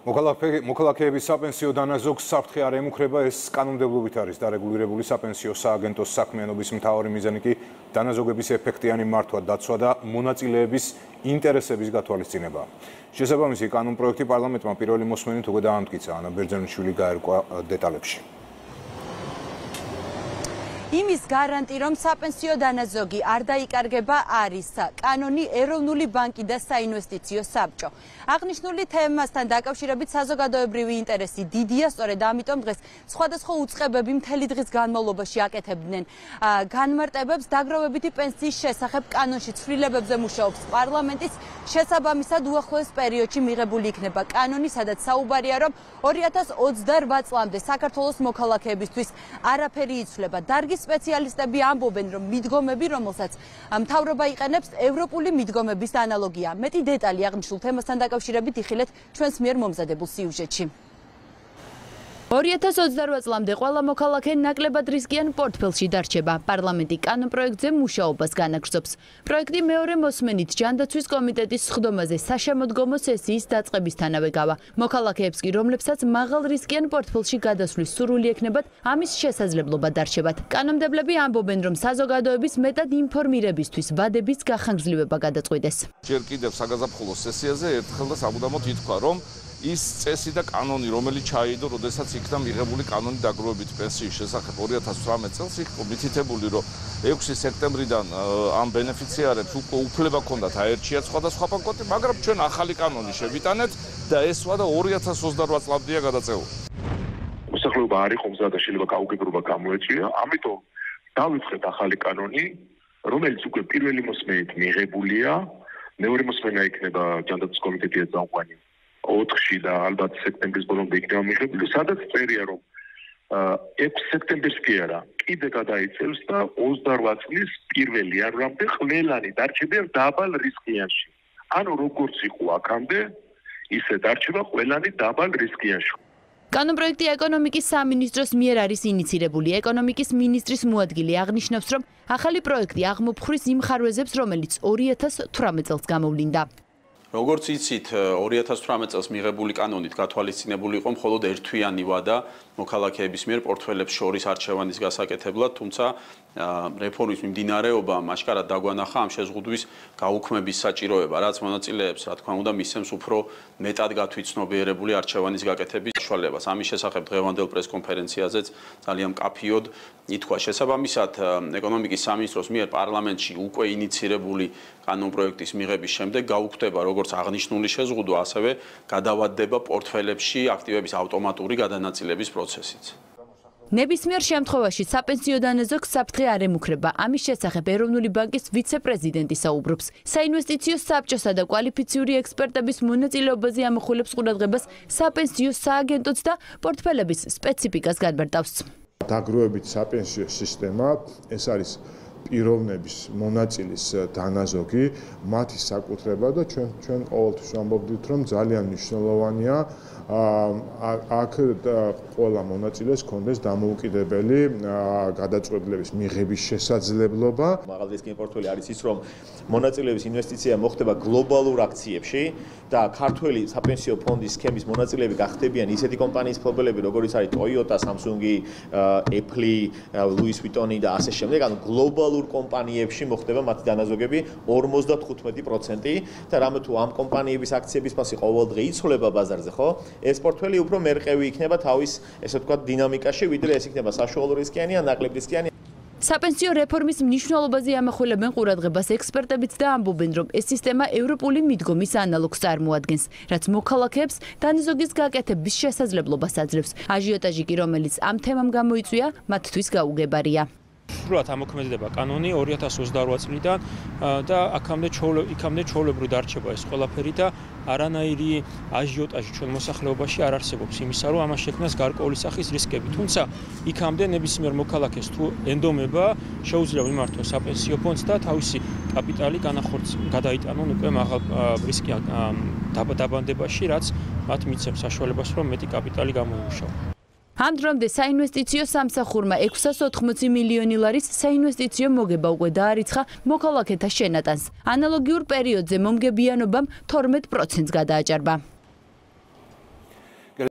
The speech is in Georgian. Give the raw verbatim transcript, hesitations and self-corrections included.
მოქალაქეების საპენსიო დანაზოგს საფრთხე არ ემუქრება, ეს კანონმდებლობით არის დარეგულირებული. საპენსიო სააგენტოს საქმიანობის მთავარი მიზანი კი დანაზოგების ეფექტიანი მართვა, დაცვა და მონაწილეების ინტერესების გათვალისწინება. შესაბამისი კანონპროექტი პარლამენტმა პირველი მოსმენით უკვე დაამტკიცა. ანა ბერძენიშვილი გაერკვა დეტალებში. იმის გარანტი, რომ საპენსიო დანაზოგი არ დაიკარგება, არის კანონი, ეროვნული ბანკი და საინვესტიციო საბჭო. აღნიშნული თემასთან დაკავშირებით საზოგადოებრივი ინტერესი დიდია, სწორედ ამიტომ დღეს სხვადასხვა უწყებები მთელი დღის განმავლობაში აკეთებდნენ განმარტებებს დაგროვებითი პენსიის შესახებ კანონში ცვლილებებზე მუშაობს პარლამენტის. შესაბამისად უახლოეს პერიოდში მიღებული იქნება კანონი, სადაც საუბარია, რომ ორი ათას ოცდარვა წლამდე საქართველოს მოქალაქეებისთვის არაფერი იცვლება. დარგის სპეციალისტები ამბობენ, რომ მიდგომები, რომელსაც მთავრობა იყენებს, ევროპული მიდგომების ანალოგია. მეტი დეტალი აღნიშნულ თემასთან დაკავშირებით იხილეთ ჩვენს მიერ მომზადებულ სიუჟეტში. ორი ათას ოცდარვა წლამდე ყველა მოქალაქე ნაკლებად რისკიან პორტფელში დარჩება. პარლამენტი კანონპროექტზე მუშაობას განაგრძობს. პროექტი მეორე მოსმენით ჯანდაცვის კომიტეტის სხდომაზე საშემოდგომო სესიის დაწყებისთანავე გავა. მოქალაქეებს კი, რომლებსაც მაღალ რისკიან პორტფელში გადასვლის სურვილი ექნებათ, ამის შესაძლებლობა დარჩებათ. კანონმდებლები ამბობენ, რომ საზოგადოების მეტად ინფორმირებისთვის ვადების გახანგრძლივება გადაწყვიტეს. ჯერ კიდევ საგაზაფხულო სესიაზე ერთხელ და საბუდამოდ ითქვა, რომ ის წესი და კანონი, რომელიც ჩაიდო, როდესაც იქნა მიღებული კანონი დაგროვებითი პენსიის შესახებ ორი ათას ცხრამეტ წელს, იქ მითითებული, რომ ექვსი სექტემბრიდან ამ ბენეფიციარებს უკვე უფლება ჰქონდათ აერჩიათ სხვადასხვა ბანკოთი, მაგრამ ჩვენ ახალი კანონი შევიტანეთ და ეს ვადა ორი ათას ოცდარვა წლამდეა გადაწეული. მოსახლეობა არ იყო მზად და შეიძლება გაუგებრობა გამოეწვია, ამიტომ დავიწყეთ ახალი კანონი, რომელიც უკვე პირველი მოსმენით მიღებულია, მეორე მოსმენა იქნება ჯანდაცვის კომიტეტის წამყვანი ოთხში და ალბათ სექტემბრის ბოლომდე იქნება მიღებული, სადაც წერია, რომ ექვსი სექტემბერს კი არა, კიდე გადაიცემს და ოცდარვა წლის პირველ იანვრამდე ყველანი დარჩებიან დაბალ რისკიანში. ანუ როგორც იყო აქამდე, ისე დარჩება ყველანი დაბალ რისკიანში. კანონპროექტი ეკონომიკის სამინისტროს მიერ არის ინიცირებული. ეკონომიკის მინისტრის მოადგილე აღნიშნავს, რომ ახალი პროექტი აღმოფხვრის იმ ხარვეზებს, რომელიც ორი ათას თვრამეტ წელს გამოვლინდა. როგორც იცით, ორი ათას თვრამეტ წელს მიღებული კანონით გათვალისწინებული იყო მხოლოდ ერთთვიანი ვადა მოქალაქეების მიერ პორტფელებს შორის არჩევანის გასაკეთებლად, თუმცა რეფორმის მიმდინარეობამ აშკარად დაგვანახა ამ შეზღუდვის გაუქმების საჭიროება, რაც მონაწილეებს, რა თქმა უნდა, მისცემს უფრო მეტად გათვითცნობიერებული არჩევანის გაკეთების საშუალებას. ამის შესახებ დღევანდელ პრესკონფერენციაზეც ძალიან მკაფიოდ ითქვა. შესაბამისად, ეკონომიკის სამინისტროს მიერ პარლამენტში უკვე ინიცირებული კანონპროექტის მიღების შემდეგ გაუქმდება როგორც აღნიშნული შეზღუდვა, ასევე გადავადდება პორტფელებში აქტივების ავტომატური გადანაწილების პროცესიც. ნებისმიერ შემთხვევაში საპენსიო დანაზოგს საფრთხე არ ემუქრება. ამის შესახებ ეროვნული ბანკის ვიცე-პრეზიდენტი საუბრობს. საინვესტიციო საბჭოსა და კვალიფიციური ექსპერტების მონაწილეობაზე ამახვილებს ყურადღებას საპენსიო სააგენტოც და პორტფელების სპეციფიკას განმარტავს. დაგროვებით საპენსიო სისტემა, ეს არის პიროვნების მონაწილის დანაზოგი, მათი საკუთრება და ჩვენ ჩვენ ყოველთვის ვამბობდით, რომ ძალიან მნიშვნელოვანია აქ ყველა მონაწილეს კონდეს დამოუკიდებელი გადაწყვეტილების მიღების შესაძლებლობა. მაღალ რისკიანი პორტფელი არის ის, რომ მონაწილეების ინვესტიცია მოხდება გლობალურ აქციებში და ქართველი საპენსიო ფონდის სქემის მონაწილეები გახდებიან ისეთი კომპანიის მფლობელები, როგორიც არის Toyota, Samsung, Apple, Louis Vuitton და ასე შემდეგ, ანუ გლობალურ კომპანიებში მოხდება მათი დანაზოგები ორმოცდათხუთმეტი პროცენტი და რამე თუ ამ კომპანიების აქციების ფასი ყოველდღე იცვლება ბაზარზე, ხო? ეს პორტფელი უფრო მერყევი იქნება თავის, ესე ვთქვათ, დინამიკაში, ვიდრე ეს იქნება საშუალო რისკიანი ან ნაკლებ რისკიანი. საპენსიო რეფორმის მნიშვნელობაზე ამახვილებენ ყურადღებას ექსპერტებიც და ამბობენ, რომ ეს სისტემა ევროპული მიდგომის ანალოგს წარმოადგენს, რაც მოქალაქეებს დანაზოგის გაკეთების შესაძლებლობას აძლევს. აჟიოტაჟი კი, რომელიც ამ თემამ გამოიწვია, მათთვის გაუგებარია. სრულად ამოქმედდება კანონი ორი ათას ოცდარვა წლიდან და აქამდე იქამდე ჩვეულებრივ დარჩება ეს ყველაფერი და არანაირი აჟიოტაჟი ჩვენ მოსახლეობაში არ არსებობს იმისა, რომ ამას შექმნას გარკვეული სახის რისკები. თუმცა იქამდე ნებისმიერ მოქალაქეს თუ ენდომება, შეუძლია მიმართოს საპენსიო ფონდს და თავისი კაპიტალი განახორციელოს, გადაიტანონ უკვე მაღალ რისკიან დაბანდებაში, რაც მათ მიცემს საშუალებას, რომ მეტი კაპიტალი გამოიმუშაოს. ამ დრომდე საინვესტიციო სამსახურმა ექვსას ოთხმოცი მილიონი ლარის საინვესტიციო მოგება უკვე დაარიცხა მოქალაქეთა შენატანს. ანალოგიურ პერიოდზე მომგებიანობამ თორმეტ პროცენტს გადააჭარბა.